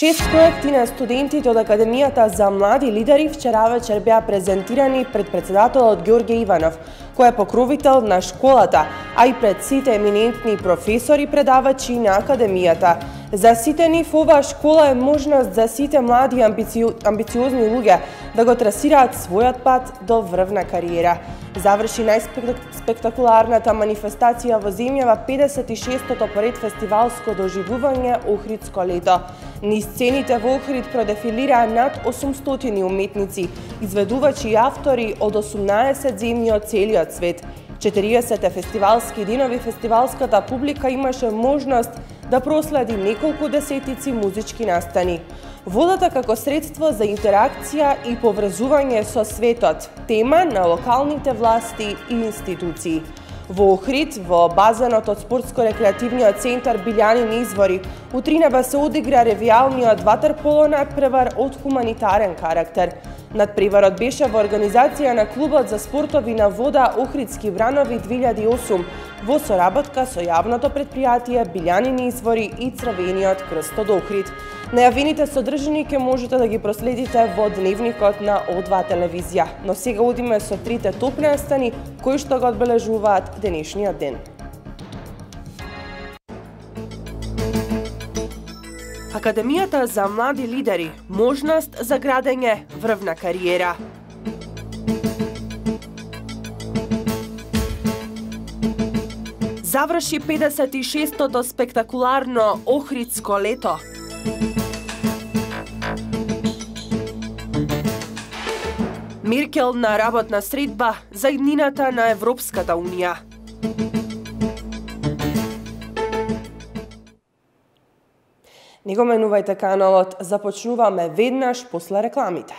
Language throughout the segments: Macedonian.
6 проекти на студентите од Академијата за млади лидери вчера вечер беа презентирани пред председателот Ѓорѓе Иванов, кој е покровител на школата, а и пред сите еминентни професори предавачи на Академијата. За сите нив оваа школа е можност за сите млади и амбициозни луѓе да го трасираат својот пат до врвна кариера. Заврши најспектакуларната манифестација во земјава 56-тото поред фестивалско доживување Охридско лето. Низ сцените во Охрид продефилираа над 800 уметници, изведувачи и автори од 18 земји од целиот свет. 40 фестивалски денови фестивалската публика имаше можност да проследи неколку десетици музички настани. Водата како средство за интеракција и поврзување со светот, тема на локалните власти и институции. Во Охрид, во базенот од спортско-рекреативниот центар Билјанини извори, утринева се одигра ревијалниот ватерполо надпревар од хуманитарен карактер. Надпреварот беше во организација на Клубот за спортови на вода Охридски вранови 2008 во соработка со јавното предпријатие Билјанини извори и Црвениот крст од Охрид. Најавените содржини ќе можете да ги проследите во дневникот на О2 телевизија. Но сега одиме со трите топ настани кои што го одбележуваат денешниот ден. Академијата за млади лидери – можност за градење врвна кариера. Заврши 56-тото спектакуларно Охридско лето. Меркел на работна средба за иднината на Европската унија. Не го менувајте каналот, започнуваме веднаш после рекламите.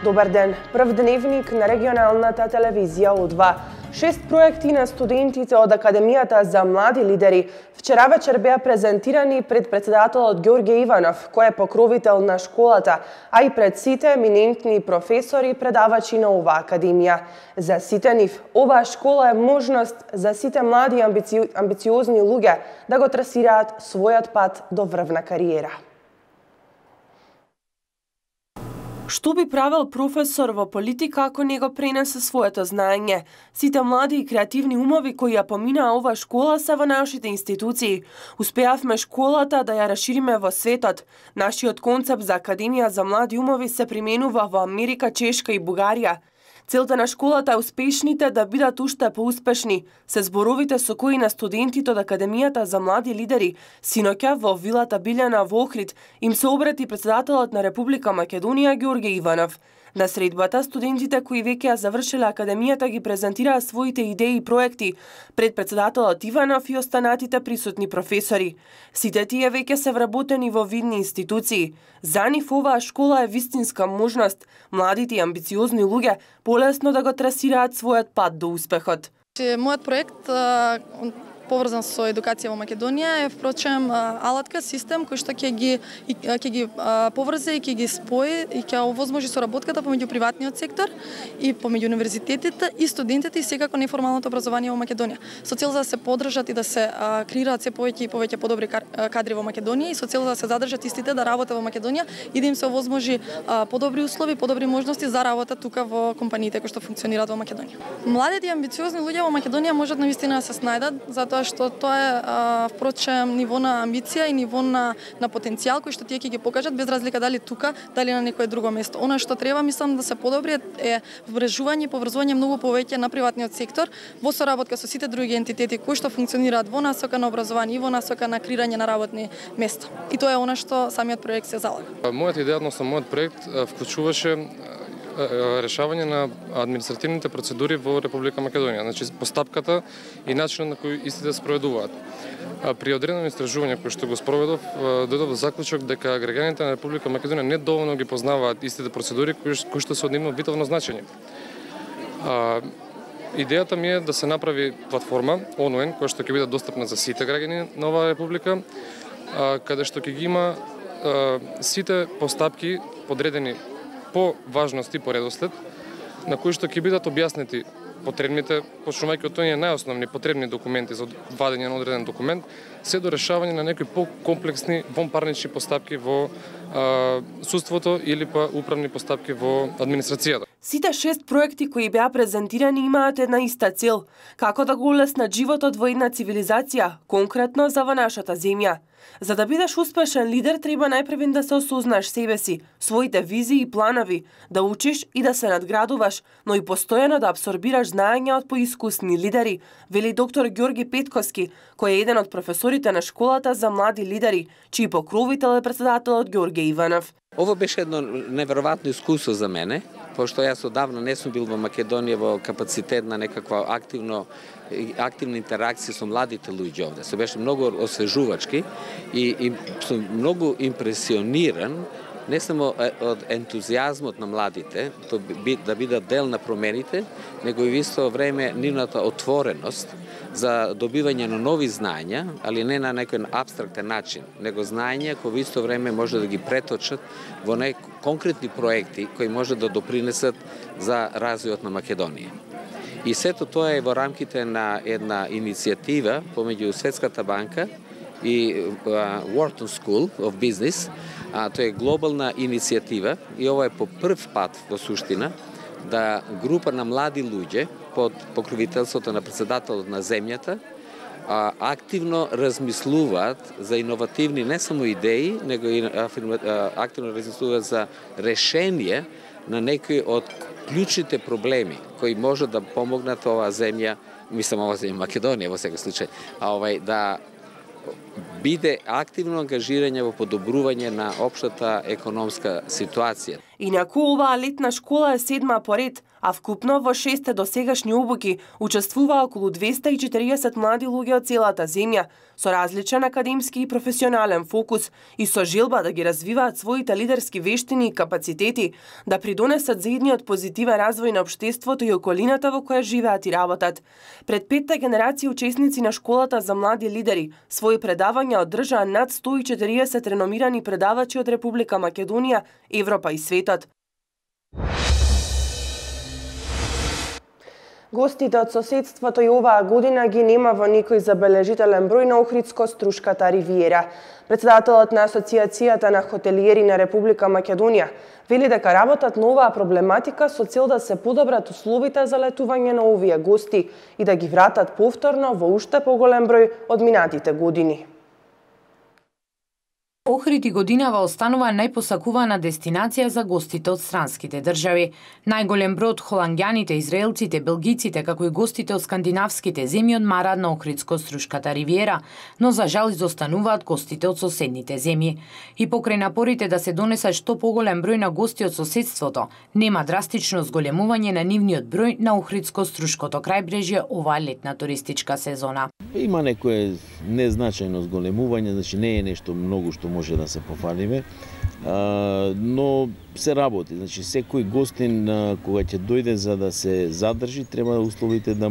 Добар ден, прв дневник на регионалната телевизија О2. 6 проекти на студентите од Академијата за млади лидери вчера вечер беа презентирани пред председателот Ѓорѓе Иванов, кој е покровител на школата, а и пред сите еминентни професори и предавачи на оваа академија. За сите нив, оваа школа е можност за сите млади и амбициозни луѓе да го трасираат својот пат до врвна кариера. Што би правел професор во политика ако не го пренесе своето знаење? Сите млади и креативни умови кои ја поминаа ова школа се во нашите институции. Успеавме школата да ја расшириме во светот. Нашиот концепт за Академија за млади умови се применува во Америка, Чешка и Бугарија. Целта на школата е успешните да бидат уште поуспешни, се зборовите со кои на студентите од Академијата за млади лидери синоќа во вилата Билјана во Охрид им се обрати председателот на Република Македонија Ѓорѓе Иванов. На средбата, студентите кои веќе ја завршиле Академијата ги презентираа своите идеи и проекти пред председателот Иванов и останатите присутни професори. Сите тие веќе се вработени во видни институции. За нив оваа школа е вистинска можност младите и амбициозни луѓе полесно да го трасираат својот пат до успехот. Мојот проект поврзан со едукација во Македонија е впрочем алатка, систем кој што ќе ги поврзе и ќе ги спои и ќе овозможи соработката помеѓу приватниот сектор и помеѓу универзитетите и студентите и секако неформалното образование во Македонија. Со цел да се поддржат и да се креираат се повеќе и повеќе подобри кадри во Македонија и со цел да се задржат истите да работат во Македонија и да им се овозможи подобри услови, подобри можности за работа тука во компаниите кои што функционираат во Македонија. Младите и амбициозни луѓе во Македонија можат навистина да се снајдат затоа што тоа е впрочем ниво на амбиција и ниво на потенцијал кој што тие ќе ги покажат без разлика дали тука, дали на некое друго место. Она што треба мислам да се подобри е вмрежување и поврзување многу повеќе на приватниот сектор во соработка со сите други ентитети кои што функционираат во насока на образование и во насока на креирање на работни места. И тоа е она што самиот проект се залага. Мојата идеја со мојот проект вклучуваше решавање на административните процедури во Република Македонија, значи постапката и начинот на кој истите се спроведуваат. При одредено истражување кој што го спроведов, дојдов до заклучок дека граѓаните на Република Македонија не доволно ги познаваат истите процедури кои што се од нивно витално значење. Идејата ми е да се направи платформа онлайн која што ќе биде достапна за сите граѓани на оваа република, каде што ќе ги има сите постапки подредени по важност и по редослед, на кои што ќе бидат објаснети потребните, почнувајќи од оние најосновни потребни документи за вадење на одреден документ, се до решавање на некои покомплексни вонпарнични постапки во судството или па управни постапки во администрацијата. Сите 6 проекти кои беа презентирани имаат една иста цел, како да го улеснат животот во една цивилизација, конкретно за во нашата земја. За да бидеш успешен лидер, треба најпрвен да се осознаш себе си, своите визии и планови, да учиш и да се надградуваш, но и постојано да абсорбираш знаења од поискусни лидери, вели доктор Ѓорги Петковски, кој е еден од професорите на школата за млади лидери, чиј покровител е председателот Ѓорге Иванов. Ово беше едно неверојатно искуство за мене, пошто јас одавна не сум бил во Македонија во капацитет на некаква активна интеракција со младите луѓе овде. Се беше многу освежувачки и сум многу импресиониран не само од ентузијазмот на младите, да бидат дел на промените, него и в исто време нивната отвореност за добивање на нови знаења, али не на некој апстрактен начин, него знаења кои в исто време може да ги преточат во конкретни проекти кои може да допринесат за развојот на Македонија. И сето тоа е во рамките на една иницијатива помеѓу Светската банка и Wharton School of Business. Тоа е глобална иницијатива и ова е по прв пат во суштина да група на млади луѓе под покровителството на председателот на земјата активно размислуваат за иновативни не само идеи, него и активно размислуваат за решение на некои од клучните проблеми кои може да помогнат оваа земја, мислам оваа земја Македонија во секој случај, да биде активно ангажирање во подобрување на општата економска ситуација. Инаку оваа летна школа е 7-ма поред, а вкупно во 6 досегашни обуки учествуваа околу 240 млади луѓе од целата земја, со различен академски и професионален фокус и со желба да ги развиваат своите лидерски вештини и капацитети, да придонесат за едниот позитивен развој на општеството и околината во која живеат и работат. Пред 5-та генерација учесници на школата за млади лидери своји предавања одржаа над 140 реномирани предавачи од Република Македонија, Европа и светот. Гостите од соседството и оваа година ги нема во никој забележителен број на Охридско-Струшката ривиера. Председателот на Асоциацијата на хотелиери на Република Македонија вели дека работат на оваа проблематика со цел да се подобрат условите за летување на овие гости и да ги вратат повторно во уште поголем број од минатите години. Охрид и годинава останува најпосакувана дестинација за гостите од странските држави. Најголем број од холанѓаните, израелците, белгиците, како и гостите од скандинавските земји одмараат на Охридско-Струшката ривиера, но за жал изостануваат гостите од соседните земји. И покрај напорите да се донесат што поголем број на гости од соседството, нема драстично зголемување на нивниот број на Охридско-Струшкото крајбрежје оваа летна туристичка сезона. Има некое незначајно зголемување, значи не е нешто многу што може да се пофалиме, но се работи. Значи секој гостин кога ќе дојде за да се задржи, треба условите да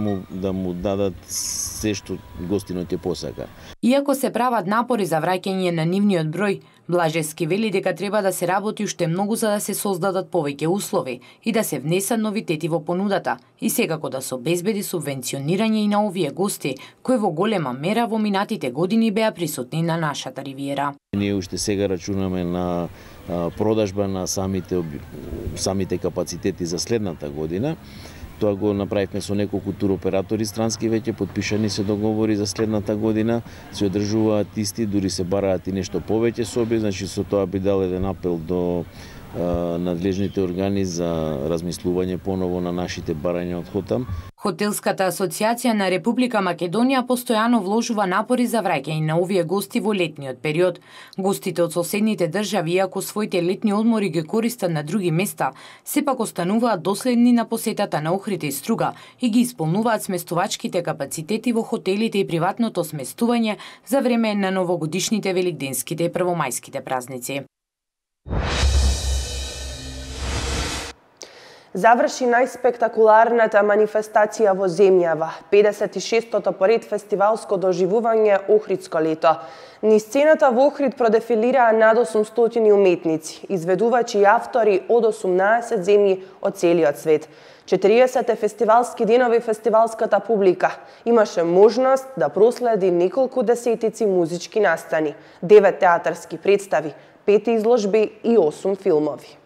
му дадат се што гостинот ќе посака. Иако се прават напори за враќање на нивниот број, Блажевски вели дека треба да се работи уште многу за да се создадат повеќе услови и да се внесат новитети во понудата и секако да се обезбеди субвенционирање и на овие гости, кои во голема мера во минатите години беа присутни на нашата ривиера. Ние уште сега рачунаме на продажба на самите капацитети за следната година. Тоа го направивме со неколку туроператори странски, веќе подпишани се договори за следната година, се одржуваат исти, дури се бараат и нешто повеќе соби, значи со тоа би дал еден апел до надлежните органи за размислување поново на нашите барања од Хотам. Хотелската асоциација на Република Македонија постојано вложува напори за враќање на овие гости во летниот период. Гостите од соседните држави, иако своите летни одмори ги користат на други места, сепак остануваат доследни на посетата на Охрид и Струга и ги исполнуваат сместувачките капацитети во хотелите и приватното сместување за време на новогодишните, великденските и првомајските празници. Заврши најспектакуларната манифестација во земјава, 56-тото поред фестивалско доживување Охридско лето. Низ сцената во Охрид продефилираа над 800 уметници, изведувачи и автори од 18 земји од целиот свет. 40 фестивалски денови фестивалската публика имаше можност да проследи неколку десетици музички настани, 9 театарски представи, 5 изложби и 8 филмови.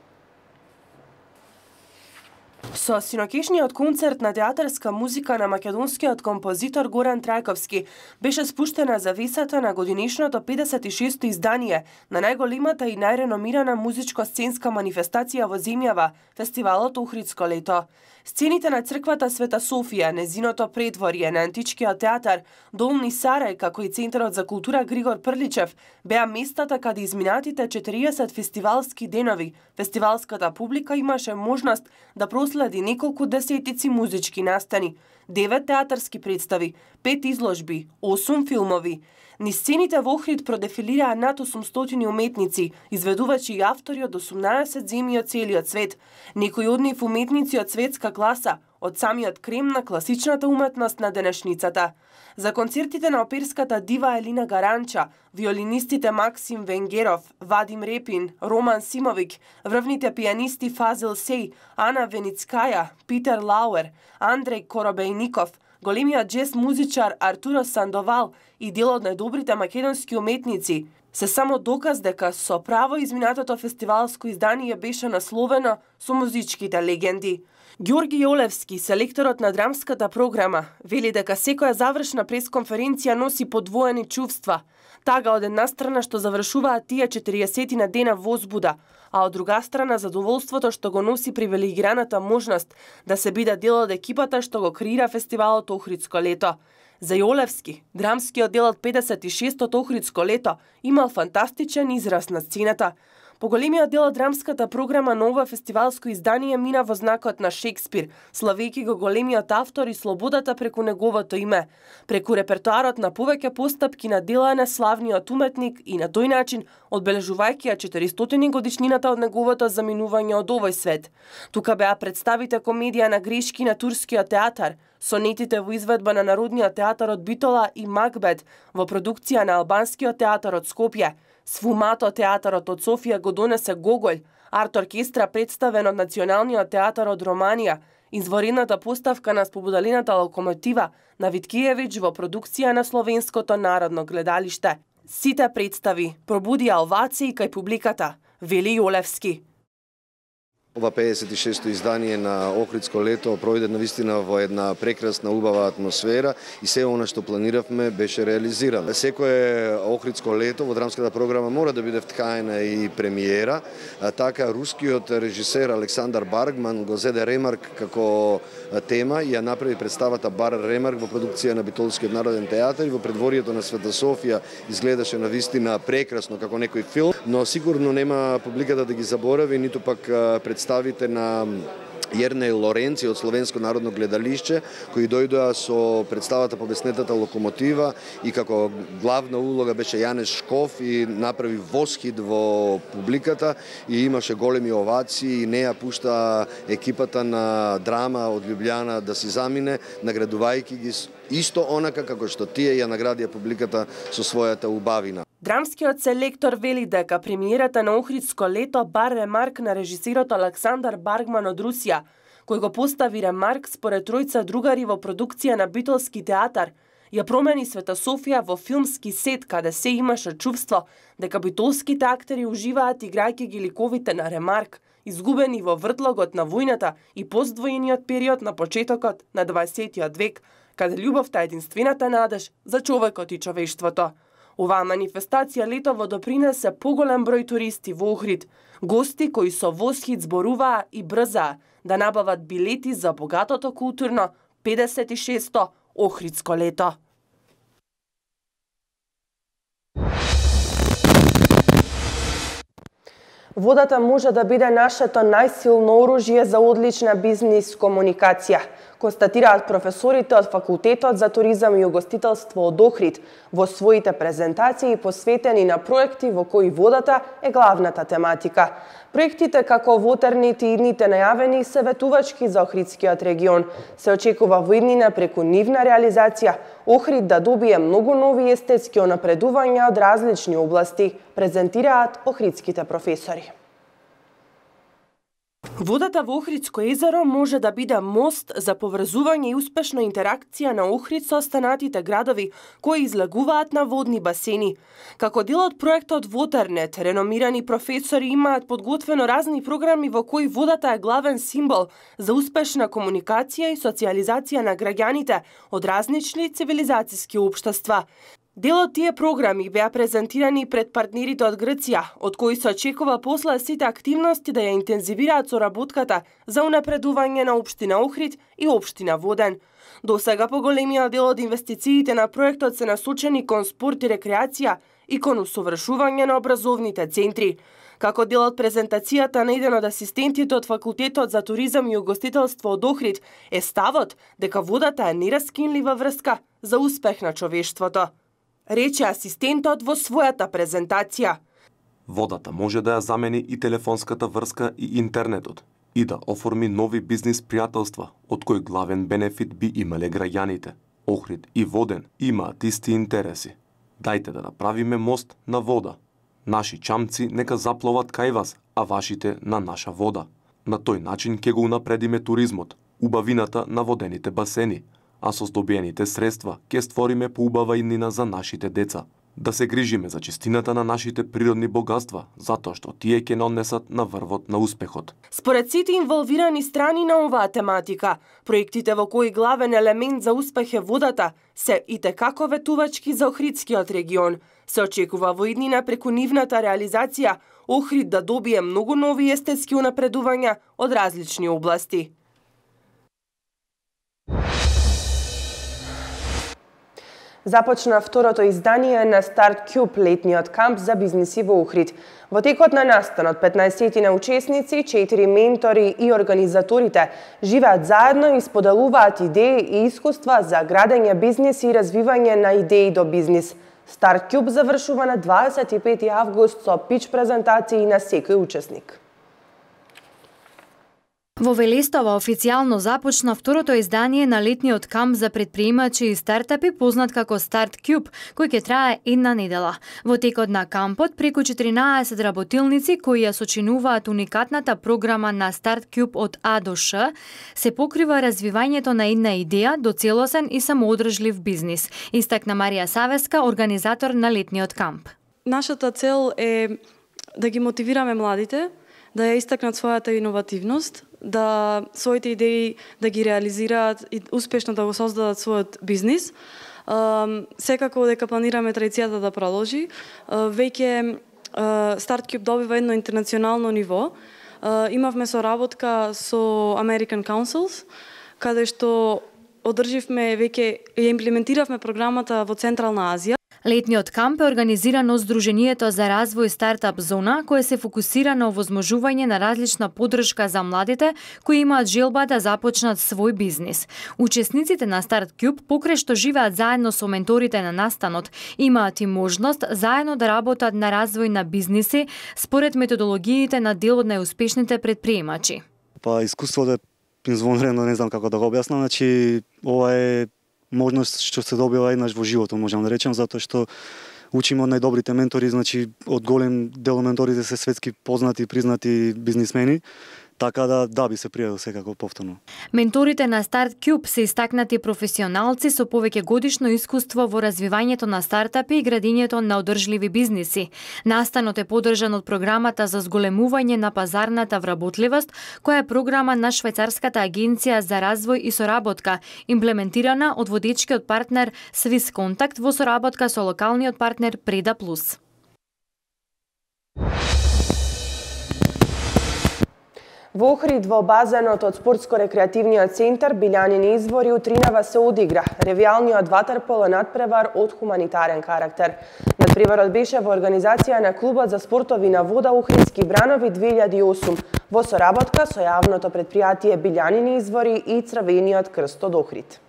Со синокишниот концерт на театарска музика на македонскиот композитор Горан Трајковски беше спуштена завесата на годинишното 56-то издание на најголемата и најреномирана музичко-сценска манифестација во земјава, фестивалот Охридско лето. Сцените на црквата Света Софија, незиното предворје, на античкиот театар Долни Сарај, како и Центарот за култура Григор Прличев, беа местата каде изминатите 40 фестивалски денови фестивалската публика имаше можност да проследи неколку десетици музички настани, 9 театарски представи, 5 изложби, 8 филмови. Низ сцените во Охрид продефилираа над 800 уметници, изведувачи и автори од 18 земји од целиот свет. Некои од нив уметници од светска класа, од самиот крем на класичната уметност на денешницата. За концертите на оперската дива Елина Гаранча, виолинистите Максим Венгеров, Вадим Репин, Роман Симовик, врвните пианисти Фазил Сеј, Ана Веницкаја, Питер Лауер, Андреј Коробејников, големиот джез музичар Артуро Сандовал и дел од најдобрите македонски уметници, се само доказ дека со право изминатото фестивалско издание беше насловено со музичките легенди. Ѓорги Јолевски, селекторот на драмската програма, вели дека секоја завршна пресконференција носи подвоени чувства. Тага од една страна што завршуваат тие 40 на дена возбуда, а од друга страна задоволството што го носи привилегираната можност да се биде дел од екипата што го креира фестивалот Охридско лето. За Јолевски, драмскиот дел од 56-тото Охридско лето имал фантастичен израз на сцената. Поголемиот дел од драмската програма на ова фестивалско издание мина во знакот на Шекспир, славејќи го големиот автор и слободата преку неговото име, преку репертоарот на повеќе постапки на дела на славниот уметник и на тој начин одбележувајќи ја 400 годишнината од неговото заминување од овој свет. Тука беа представите комедија на грешки на турскиот театар, сонетите во изведба на Народниот театар од Битола и Макбет во продукција на Албанскиот театар од Скопје, Сфумато театарот од Софија го донесе Гоголј, арт-оркестра представен од Националниот театар од Романија, изворедната поставка на Слободалината локомотива на Виткиевиќ во продукција на Словенското народно гледалиште. Сите представи пробудија овации кај публиката, вели Јолевски. Ова 56-то издание на Охридско лето пројде навистина во една прекрасна, убава атмосфера и се она што планиравме беше реализирано. Секое Охридско лето во драмската програма мора да биде вткаена и премиера, така рускиот режисер Александар Баргман го зеде Ремарк како тема и ја направи представата Бар Ремарк во продукција на Битолскиот народен театар и во предворието на Света Софија изгледаше навистина прекрасно како некој филм, но сигурно нема публиката да ги заборави, ниту пак представите на Јернеј Лоренци од Словенско народно гледалиште, кои дојдоа со представата Побеснетата локомотива и како главна улога беше Јанеш Шков и направи восхит во публиката и имаше големи овации и не ја пушта екипата на драма од Љубљана да си замине, наградувајќи ги исто онака како што тие ја наградија публиката со својата убавина. Драмскиот селектор вели дека премиерата на Охридско лето бар ремарк на режисерот Александар Баргман од Русија, кој го постави ремарк според тројца другари во продукција на Битолски театар, ја промени Света Софија во филмски сет каде се имаше чувство дека битолските актери уживаат играјќи ги ликовите на ремарк, изгубени во вртлогот на војната и поствојниот период на почетокот на 20 век, каде љубовта е единствената надеж за човекот и човештвото. Оваа манифестација летово допринесе поголем број туристи во Охрид, гости кои со восхит зборуваа и брзаа да набават билети за богатото културно 56-то Охридско лето. Водата може да биде нашето најсилно оружје за одлична бизнис комуникација, констатираат професорите од Факултетот за туризам и угостителство од Охрид во своите презентации посветени на проекти во кои водата е главната тематика. Проектите како Waternet и идните најавени се ветувачки за Охридскиот регион. Се очекува во иднина преку нивна реализација Охрид да добие многу нови естетски унапредувања од различни области, презентираат охридските професори. Водата во Охридско езеро може да биде мост за поврзување и успешна интеракција на Охрид со останатите градови кои излегуваат на водни басени. Како дел од проектот Waternet, реномирани професори имаат подготвено разни програми во кои водата е главен символ за успешна комуникација и социјализација на граѓаните од различни цивилизацијски општества. Дел од тие програми беа презентирани пред партнерите од Грција, од кои се очекува после сите активности да ја интензивираат соработката за унапредување на општина Охрид и општина Воден. До сега поголемиот дел од инвестициите на проектот се насочени кон спорт и рекреација и кон усовршување на образовните центри. Како дел од презентацијата на еден од асистентите од Факултетот за туризам и угостителство од Охрид е ставот дека водата е нераскинлива врска за успех на човештвото. Рече асистентот во својата презентација. Водата може да ја замени и телефонската врска и интернетот и да оформи нови бизнис пријателства, од кои главен бенефит би имале граѓаните. Охрид и Воден имаат исти интереси. Дајте да направиме мост на вода. Наши чамци нека запловат кај вас, а вашите на наша вода. На тој начин ќе го унапредиме туризмот, убавината на водените басени, а со здобиените средства ќе створиме поубава иднина за нашите деца. Да се грижиме за чистината на нашите природни богатства, затоа што тие ќе нанесат на врвот на успехот. Според сите инволвирани страни на оваа тематика, проектите во кои главен елемент за успех е водата се итекако ветувачки за Охридскиот регион. Се очекува во иднина преку нивната реализација Охрид да добие многу нови естетски унапредувања од различни области. Започна второто издание на StartCube, летниот камп за бизниси во Охрид. Во текот на настанот 15 учесници, 4 ментори и организаторите живеат заедно и споделуваат идеи и искуства за градење бизнис и развивање на идеи до бизнис. StartCube завршува на 25 август со пич презентации на секој учесник. Во Велестово официјално започна второто издание на летниот камп за претприемачи и стартапи, познат како StartCube, кој ќе трае една недела. Во текот на кампот, преку 14 работилници кои ја сочинуваат уникатната програма на StartCube од А до Ш, се покрива развивањето на една идеја до целосен и самоодржлив бизнис, истакна Марија Савеска, организатор на летниот камп. Нашата цел е да ги мотивираме младите, да ја истакнат својата иновативност, да своите идеи да ги реализираат и успешно да го создадат својот бизнис. Секако дека планираме традицијата да продолжи. Веќе StartCube добива едно интернационално ниво. Имавме соработка со American Councils, каде што одрживме веќе ја имплементиравме програмата во Централна Азија. Летниот камп е организиран од Сдруженијето за развој Стартап Зона, кое се фокусира на овозможување на различна поддршка за младите кои имаат желба да започнат свој бизнис. Учесниците на StartCube, покрај што живеат заедно со менторите на настанот, имаат и можност заедно да работат на развој на бизниси според методологиите на дел од најуспешните претприемачи. Искуството е извонредно, не знам како да го објаснам, значи ова е можност што се добива еднаш во животот, можам да речем, затоа што учиме од најдобрите ментори, значи од голем дел менторите се светски познати и признати бизнисмени, Така да би се пријавил секако повторно. Менторите на Старт Кјуб се истакнати професионалци со повеќе годишно искуство во развивањето на стартапи и градењето на одржливи бизниси. Настанот е поддржан од програмата за зголемување на пазарната вработливост, која е програма на Швајцарската агенција за развој и соработка, имплементирана од водечкиот партнер Swiss Contact во соработка со локалниот партнер Преда Плюс. Во Охрид во базенот од спортско-рекреативниот центар Билјанини извори утринава се одигра ревијалниот ватерполо надпревар од хуманитарен карактер. Надпреварот беше во организација на клубот за спортови на вода Охридски бранови 2008 во соработка со јавното претпријатие Билјанини извори и Црвениот крст од Охрид.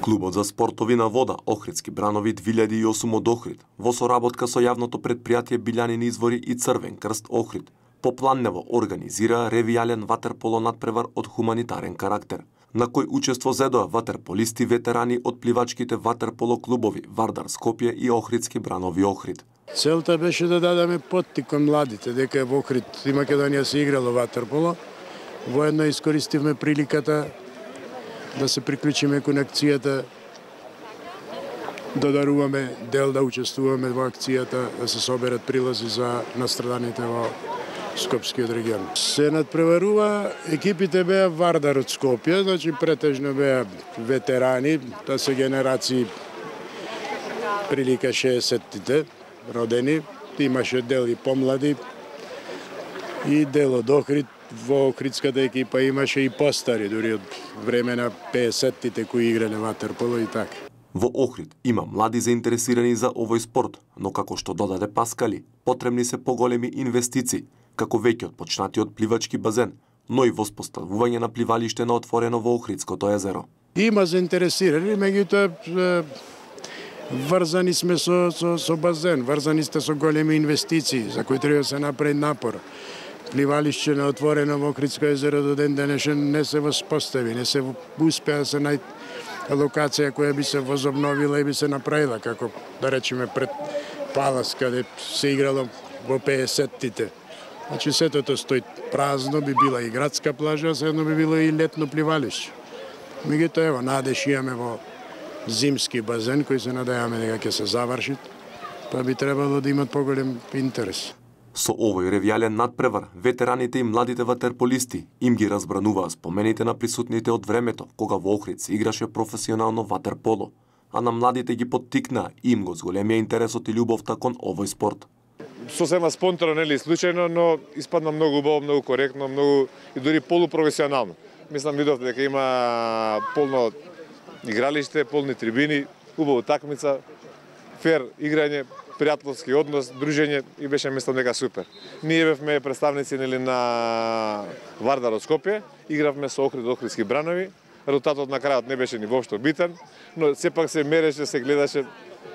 Клубот за спортови на вода Охридски бранови 2008 од Охрид во соработка со јавното претпријатие Билјанини извори и Црвен крст Охрид попланнево организира ревијален ватерполо надпревар од хуманитарен карактер, на кој учество зедоа ватерполисти ветерани од пливачките ватерполо клубови Вардар Скопје и Охридски бранови Охрид. Целта беше да дадеме поттик кон младите, дека во Охрид и Македонија се играло ватерполо. Воедно искористивме приликата да се приклучиме кон акцијата, да даруваме дел, да учествуваме во акцијата, да се соберат прилози за настраданите во Скопскиот регион. Се надпреварува, екипите беа Вардар од Скопје, значи претежно беа ветерани, тоа се генерации прилика 60-тите родени, имаше дел и помлади и дел од Охрид. Во Охридската екипа имаше и постари, дури од време на 50-тите кои играле ватерполо и така. Во Охрид има млади заинтересирани за овој спорт, но како што додаде Паскали, потребни се поголеми инвестиции, како веќе отпочнатиот пливачки базен, но и воспоставување на пливалиште на отворено во Охридското езеро. Има заинтересирани, меѓутоа врзани сме со базен, врзани сте со големи инвестиции, за кои треба да се направи напор. Пливалиште на отворено во Охридско езеро до ден денешен не се воспостави, не се успеа да се најде локација која би се возобновила и би се направила, како да речеме пред Палас, каде се играло во 50-тите. Значи сетото стои празно, би била и градска плажа, седно би било и летно пливалиште. Меѓутоа, ево, надеж имаме во зимски базен, кој се надејаме дека ќе се заврши, па би требало да имат поголем интерес. Со овој ревијален надпревар, ветераните и младите ватерполисти им ги разбрануваа спомените на присутните од времето, кога во Охрид се играше професионално ватерполо, а на младите ги поттикнаа и им го зголемија интересот и љубовта кон овој спорт. Сосема спонтано, нели случајно, но испадна многу убаво, многу коректно, многу и дури полупрофесионално. Мислам, видов дека има полно игралиште, полни трибини, убава такмица, фер играње, пријателски однос, дружење и беше, мислам, дека супер. Ние бевме представници нели на Вардар од Скопје, игравме со Охрид, Охридски бранови. Резултатот на крајот не беше ни воопшто битен, но сепак се мереше, се гледаше,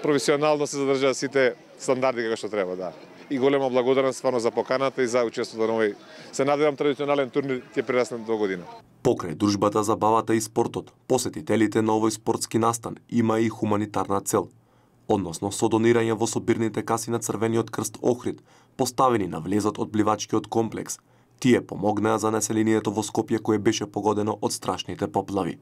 професионално се задржаа сите стандарди како што треба, да. И голема благодарност стварно за поканата и за учеството на овој, се надевам, традиционален турнир ќе прерасне до година. Покрај дружбата, забавата и спортот, посетителите на овој спортски настан има и хуманитарна цел, односно со донирање во собирните каси на Црвениот крст Охрид, поставени на влезот од пливачкиот комплекс. Тие помогнаа за населението во Скопје кое беше погодено од страшните поплави.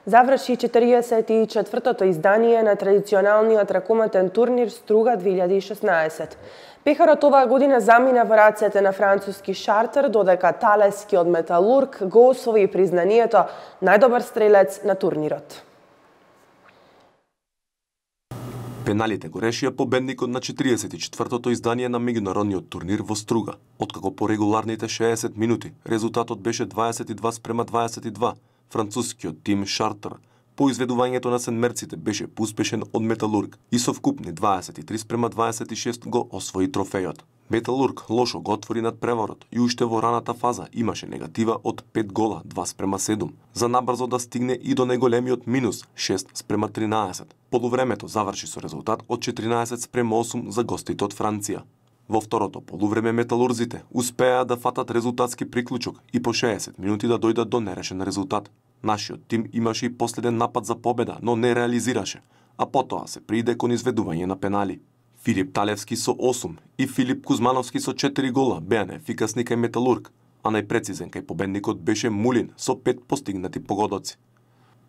Заврши 44-тото издание на традиционалниот ракометен турнир Струга 2016. Пехарот оваа година замина во рацете на француски Шартер, додека талескиот Металург го освои признанието најдобар стрелец на турнирот. Пеналите го решија победникот на 44-тото издание на меѓународниот турнир во Струга, откако по регуларните 60 минути резултатот беше 22-22. Францускиот тим Шартер По изведувањето на сенмерците беше поуспешен од Металург и со вкупни 23:26 го освои трофејот. Металург лошо го отвори надпреварот и уште во раната фаза имаше негатива од 5 гола, 2:7, за набрзо да стигне и до најголемиот минус 6:13. Полувремето заврши со резултат од 14:8 за гостите од Франција. Во второто полувреме металурзите успеа да фатат резултатски приклучок и по 60 минути да дојдат до нерешен резултат. Нашиот тим имаше и последен напад за победа, но не реализираше, а потоа се прииде кон изведување на пенали. Филип Талевски со 8 и Филип Кузмановски со 4 гола беа неефикасни кај Металург, а најпрецизен кај победникот беше Мулин со 5 постигнати погодоци.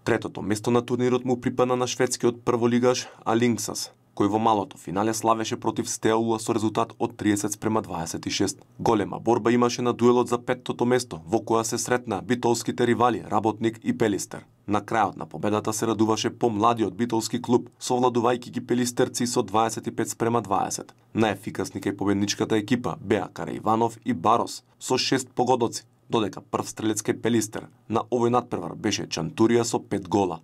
Третото место на турнирот му припадна на шведскиот прволигаш Алингсас, кој во малото финале славеше против Стеаула со резултат од 30:26. Голема борба имаше на дуелот за петтото место, во која се сретна битолските ривали Работник и Пелистер. На крајот на победата се радуваше помладиот битолски клуб, совладувајќи ги пелистерци со 25:20. Најефикасни кај победничката екипа беа Караиванов и Барос со 6 погодоци, додека прв стрелец кај Пелистер на овој надпревар беше Чантурија со 5 гола.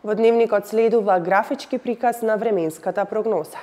Во дневникот следува графички приказ на временската прогноза.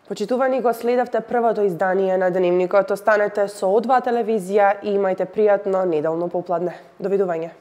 Почитувани, го следавте првото издание на Дневникот. Останете со О2 телевизија и имајте пријатно неделно попладне. Довидување.